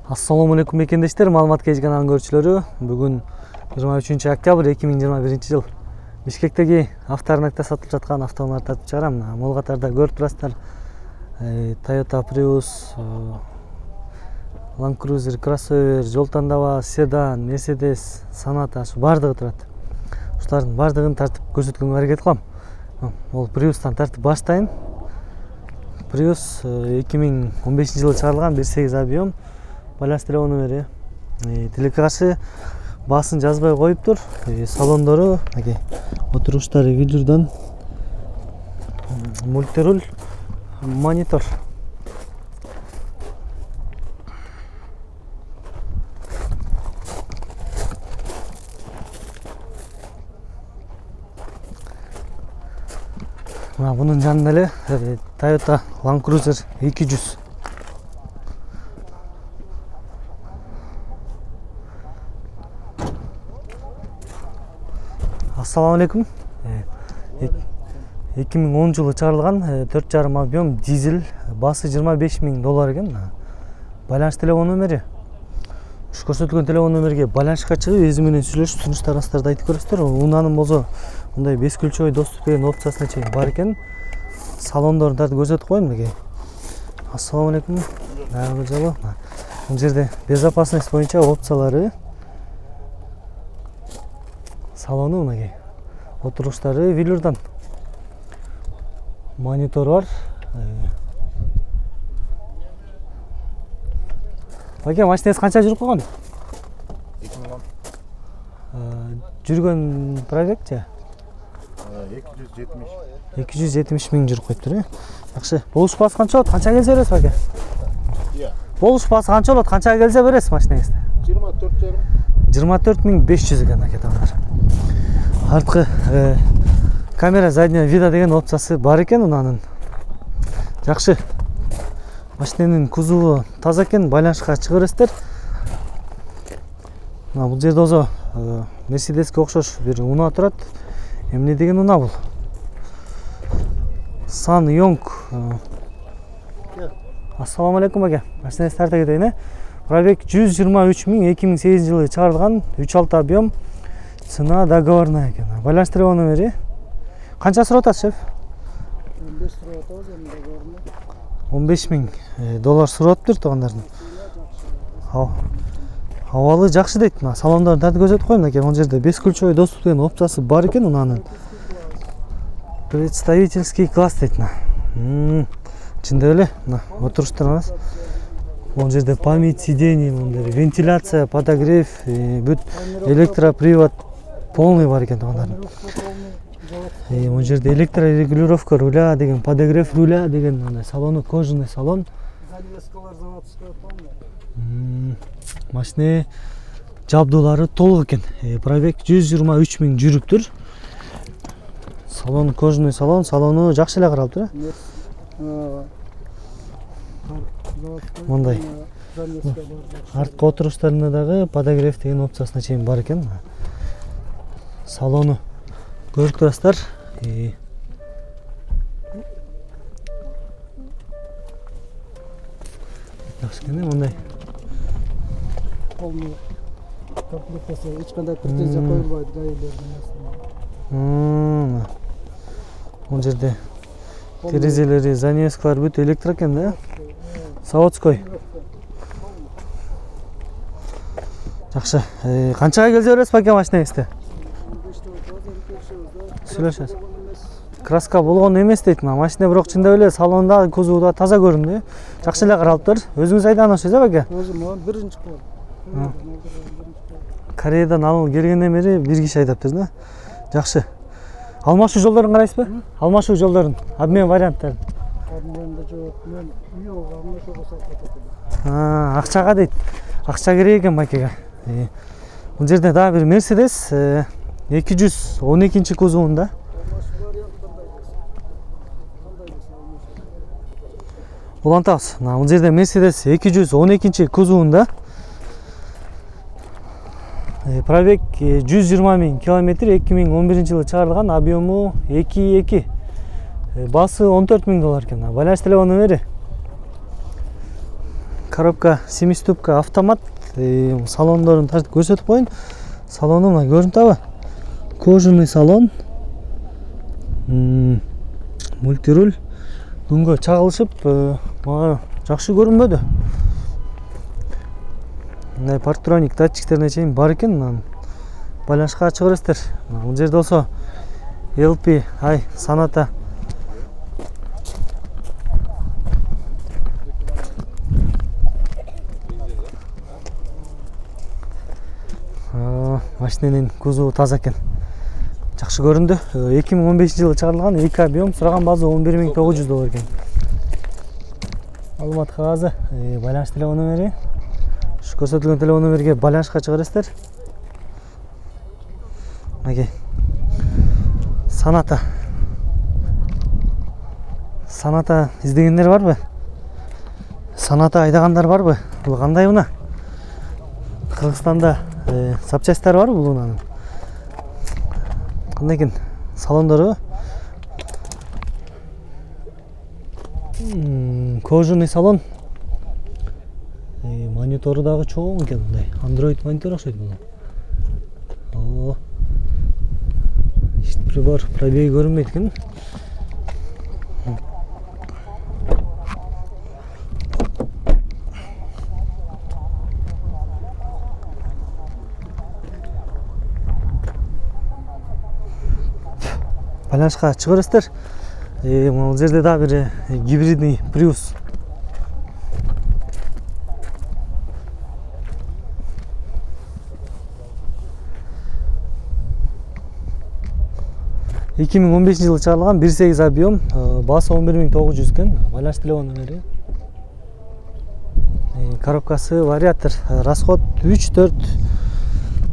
Assalomu alaykum ekendештер, маалымат кеч каналынын көрүүчүлөрү. Бүгүн 23 октябрь 2021 жыл. Бишкектеги авторынакта сатылып жаткан автоунааларды тартып чыгарам. Мол катарда көрүп турасыздар. Toyota Prius, Land Cruiser, Crossover, жол тандабы, седан, Mercedes, Sonata, шу бардыгы турат. Ушулардын бардыгын тартып көрсөткөнгө аракет кылам. Ол Prius'тан тартып баштайын. Prius 2015 жылы чыгарылган 1.8 объем. Баланс телефон номери. Тилекке каршы баасын жазбай коюптур. Салондору, отуруштары велюрдан, мультируль, монитор. Bunun жанында эле Toyota Land Cruiser 200. Assalamu alaikum. 2010 жылы чыгарылган 4,5 объем дизель, басы $25,000 экен. Байланыш телефон номери. Ушу көрсөтүлгөн телефон номерге байланышка чыгып, өзү менен сүйлөшүп, сунуштарыңыздарды айтып көрөсүздөр. Унаанын болсо мындай 5 ключевой доступ деген опциясына чейин бар экен. Салондорун тартып көрсөтүп коеюн мындай. Assalamu alaikum. Дагы жолу. Бул жерде безопасность боюнча опциялары. Салону мындай. Отуруштары велюрдан. Монитор бар. Баке, машинаңыз канча жүрүп калган? 2010. Жүргөн пробегчи? 270 миң жүрүп коюптур, Жакшы. Болуш баасы канча болот? Канча келсе бересиз, баке? Болуш баасы канча болот? Канча келсе бересиз машинаңызды? 24,500 экен, акетаңдар. Арткы камера заднего вида деген опциясы бар экен унанын. Жакшы. Машинанын кузову таза экен, байланышка чыгып бересиздер. Бул жерде өзү Mercedesке окшош бир унаа турат. Эмне деген унаа бул? SsangYong. Assalamu alaikum баке. Машинаңызды тарта кетейин, Пробег 123 миң, 2008 жылы чыгарылган, 3.6 объем, цена договорная экен. Байланыш телефон номери. Канча сурап атат, шеф? 15 сурап атабыз, эми договорный. $15,000 сурап атыптыр туугандардын. Абалы жакшы дейт. Салондорун тартып көрсөтүп коеюн экен. Бул жерде 5 ключевой доступ деген опциясы бар экен унанын. Представительский класс дейт. Чындап эле, отуруштарыңыз. Бул жерде память сидений, вентиляция, подогрев, бүт электропривод полный бар экен туугандардын. Бул жерде электрорегулировка руля деген, подогрев руля деген, салону кожаный салон. Занавескалар заводской полный. Машина жабдуулары толук экен. Пробег 123 миң жүрүптүр. Салон кожаный салон, салону жакшы эле каралыптыр. Мындай. Арткы отуруштарында дагы подогрев деген опциясына чейин бар экен. Салону көрүп турасыздар. Жакшы экен, мындай. Полный комплектация, эч кандай претензия коюлбайт гаилердин астына. Бул жерде терезелери, занавескалар бүт электр экен да? Заводской. Жакшы. Канчага келсе бересиз баке машинаңызды? Сүйлөшөбүз. Краска болгон эмес дейт. Машина бирок чындап эле салонда, кузовда таза көрүндү. Жакшы эле каралыптыр. Өзүңүз айдагансыз, баке? Өзүм биринчи кылам. Кореядан алып келгенден бери бир киши айдаптыр да? Жакшы. Алмашуу жолдорун карайсызбы? Алмашуу жолдорун, обмен варианттарын. Обменде жок. Мен алмашууга сатып Акчага дейт. Акча керек экен бакеге. Бул жерде дагы бир Mercedes 212 кузовунда. Улантабыз. Бул жерде Mercedes 212 кузовунда. Пробег 120 миң километр, 2011 жылы чыгарылган, объему 2.2. Басы $14,000 экен. Байланыш телефон номери. коробка 7-ступка автомат. Салондорун тартып көрсөтүп коеюн. Салону мына көрүнүп атабы? Кожаный салон. Мультируль. Дүнгө чагылышып, мага жакшы көрүнбөдү. Мындай партроник датчиктерине чейин бар экен. Байланышка чыгып бересиздер. Бул жерде болсо LP ай Sonata машиненин кузову таза экен. Жакшы көрүндү. 2015-жылы чыгарылган, 2 объем, сураган база $11.900 экен. Маалымат кагазы, байланыш телефон номери. Ушу көрсөтүлгөн телефон номерге байланышка чыгып бересиздер. Мынакей. Sonata. Sonata издегендер барбы? Sonata айдагандар барбы? Бул кандай уна? Кыргызстанда запчасттары бар бул унанын. Кандай экен? Салондору кожаный салон. Монитору дагы чоң экен, мындай. Android монитор окшойт бул. Прибор, пробеги көрүнбөйт экен. Байланышка чыгып бересиздер. Бул жерде дагы бир гибридный Prius. Эки миң 15-жылы чыгарылган, 1.8 объем, басы 11.900 экен. Байланыш телефон номери. Коробкасы вариатор, расход 3-4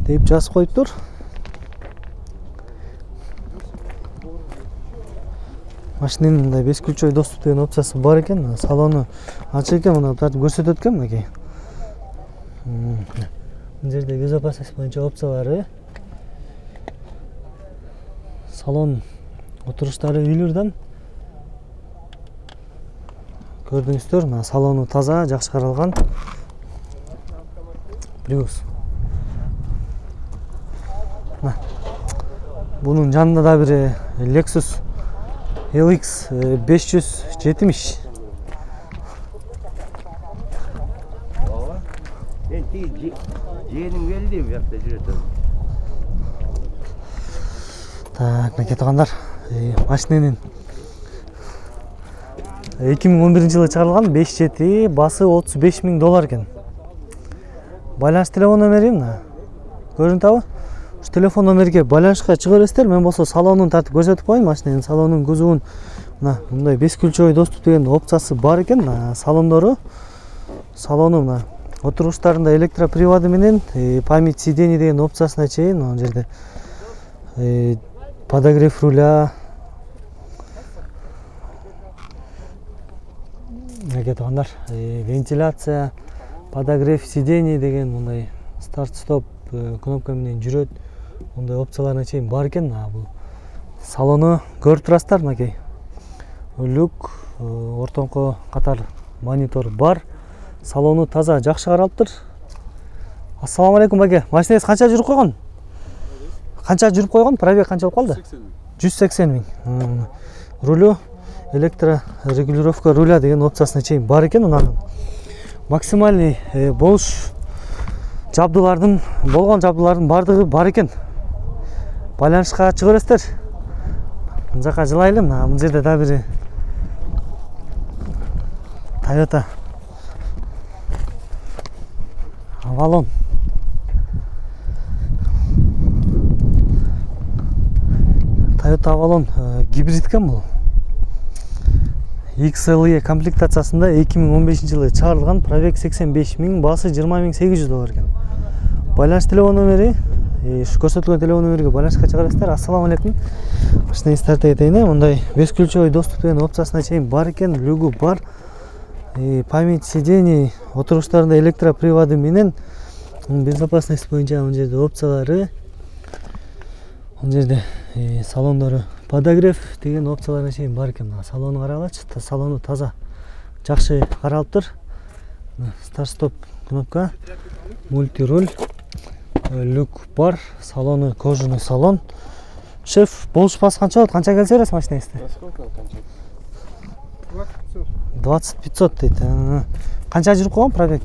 деп жазып коюптур. Машиненин мындай 5 ключой доступ деген опциясы бар экен. Салону ачык экен, мына тартып көрсөтөт экен мынакей. Бул жерде безопасность боюнча опциялары. Салон отуруштары үйлөрдөн көрдүңүздөр. Мына салону таза, жакшы каралган. Prius. Бунун жанында да бир Lexus LX 570. Жээним келди, бу жакта жүрөт. Так, мынакей туугандар, машиненин 2011-жылы чыгарылган, 5.7, басы $35.000 экен. Байланыш телефон номери мына. Көрүнүп атабы? Ушу телефон номерге байланышка чыгып бересиздер. Мен болсо салонун тартып көрсөтүп коеюн. Машиненин салонун кузовун мына мындай 5 ключой доступ деген опциясы бар экен. Салондору. Салону мына отуруштарында электроприводу менен память сидений деген опциясына чейин, мына жерде подогрев руля. Мынакей туугандар, вентиляция, подогрев сидений деген мындай старт-стоп кнопка менен жүрөт. Мындай опцияларына чейин бар экен. Бул салону көрүп турасыздар, мынакей. Люк, ортоңко катар монитор бар. Салону таза, жакшы каралыптыр. Ассаламу алейкум баке. Машинеңиз канча жүрүп койгон? Канча жүрүп койгон? Пробег канча болуп калды? 180 000. Рулю, электрорегулировка руля деген опциясына чейин бар экен. Унанын максимальный болуш жабдуулардын, болгон жабдуулардын бардыгы бар экен. Байланышка чыгып бересиздер. Мына жака жылайлы. Бул жерде да бир Toyota Avalon. Toyota Avalon гибрид экен бул. XLE комплектациясында 2015-жылы чыгарылган, пробег 85 000, басы $20.800 экен. Байланыш телефон номери, ушу көрсөтүлгөн телефон номерге байланышка чыгып бересиздер. Ассаламу алейкум. Машинеңизди тартып кетейин. Мындай 5 ключой доступ деген опциясына чейин бар экен, люгу бар. Память сидений, отуруштарында электроприводу менен, безопасность боюнча мына жерде опциялары. Мына жерде салондору подогрев деген опцияларына чейин бар экен. Салону карагылачы, салону таза, жакшы каралыптыр. Старт-стоп кнопка, мультируль, люк бар, салону кожаный салон. Шеф, болушпасы канча болот? Канча келсе бересиз машинеңизди? Сколько кончать? 2500 дейт. Канча жүрүп койгон пробег?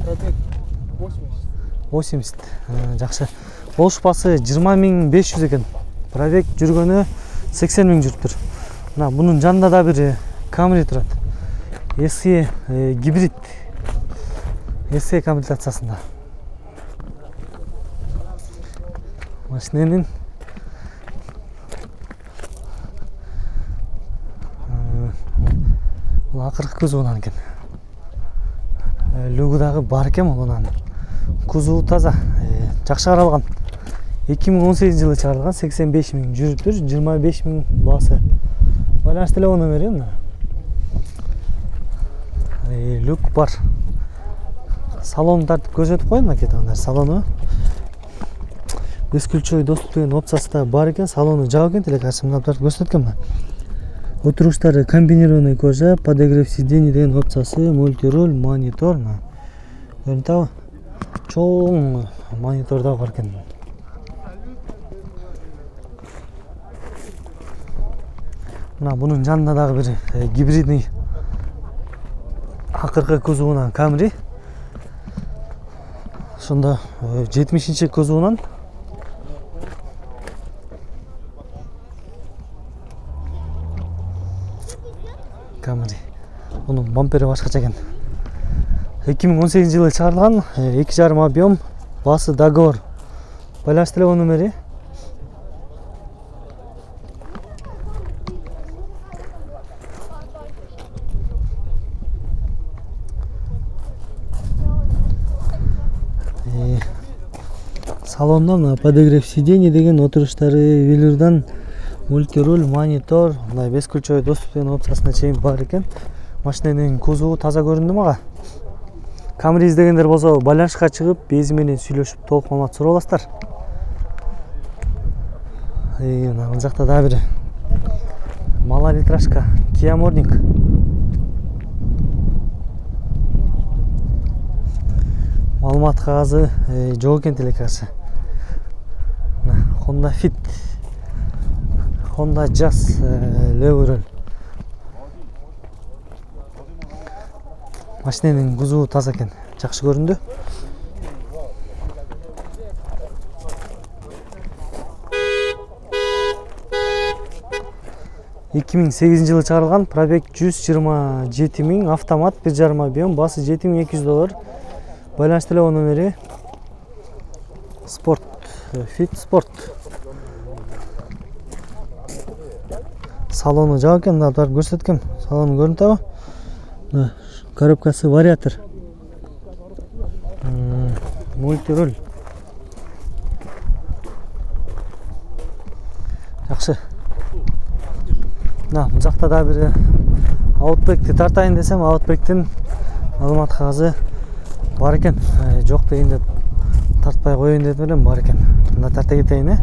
Пробег 80. Жакшы. Болушпасы 20500 экен. Пробег жүргөнү 80000 жүрүптүр. Мына бунун жанында да бир Camry турат. SE гибрид. SE комплектациясында. Машиненин бул акыркы кузовунан экен. Люгу дагы бар экен мунун. Кузову таза, жакшы каралган. 2018 жылы чыгарылган, 85000 жүрүптүр, 25000 баасы. Байланыш телефон номери мына. Люк бар. Салонду тартып көрсөтүп коеюн макетаны. Салону бескүлчөй доступ деген опциясы да бар экен. Салону жабык экен, телекамера тартып көрсөткөн мына. Отуруштары комбинированный кожа, подогрев сидений деген опциясы, мультируль, монитор. Көрүнүп атабы? Чоң монитор да бар экен. Мына бунун жанында дагы бир гибридный акыркы кузовунан Camry. Ошондо 70-нчи кузовунан Camry. Бунун бампери башкача экен. 2018 жылы чыгарылган, 2,5 объем, баасы договор. Байланыш телефон номери. Салонда подогрев сидений деген отуруштары велюрдан, мультируль, монитор, мындай бескүлчөй доступ деген опциясына чейин бар экен. Машиненин кузову таза көрүндү мага. Camry издегендер болсо байланышка чыгып, бези менен сүйлөшүп толук маалымат сурап аласыздар. Мына жакта да бир малолитражка Kia Morning. Маалымат кагазы жок экен телекасы. Honda Fit, Honda Jazz Level. Машиненин кузову таза экен, жакшы көрүндү. жылы чыгарылган, пробег 127 000, автомат 1,5 объем, баасы $7200. Байланыш телефон номери. Спорт, Fit Sport. Салону жабык экен, мына тарап көрсөткөм. Салону көрүнүп атабы? Коробкасы вариатор. Мультируль. Жакшы. Мына бул жакта да бир Outback'ти тартайын десем, Outback'тин маалымат кагазы бар экен. Жок дегенде тартпай коеюн деп элем, бар экен. Мына тарта кетейин.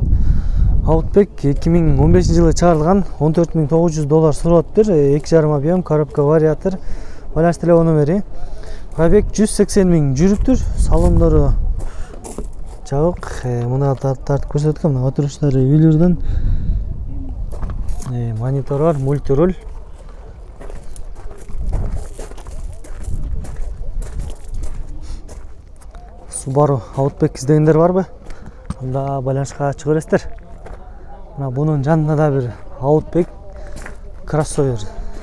Outback 2015 жылы чыгарылган, $14900 сураттыр, 2,5 объем, коробка вариатор. Байланыш телефон номери. Пробег 180 000 жүрүптүр. Салондору жабык. Мына тартып көрсөткөм, мына отуруштары велюрдан. Монитор бар, мультируль. Subaru Outback издегендер барбы? Анда байланышка чыга бересиздер. Мына бунун жанында да бир Outback кроссовер.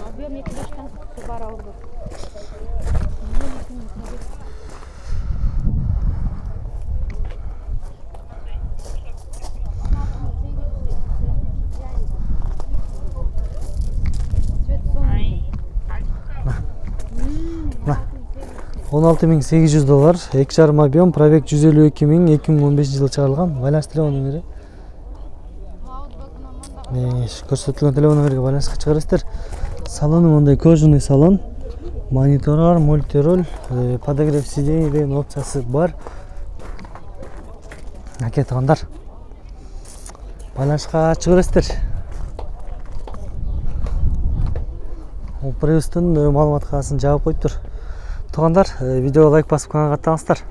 Объем 2,5 Subaru Outback. $16800, 2,5 объем, пробег 152 000, 2015 жылы чыгарылган. Байланыш телефон номери. Көрсөтүлгөн телефон номерге байланышка чыга бересиздер. Салону мындай кожаный салон. Монитор бар, мультируль, подогрев сидений деген опциясы бар. Акетгандар. Байланышка чыга бересиздер. Опрестин маалымат кагасын жабып коюптур. туугандар, видеого лайк басып каналга каттыңыздар.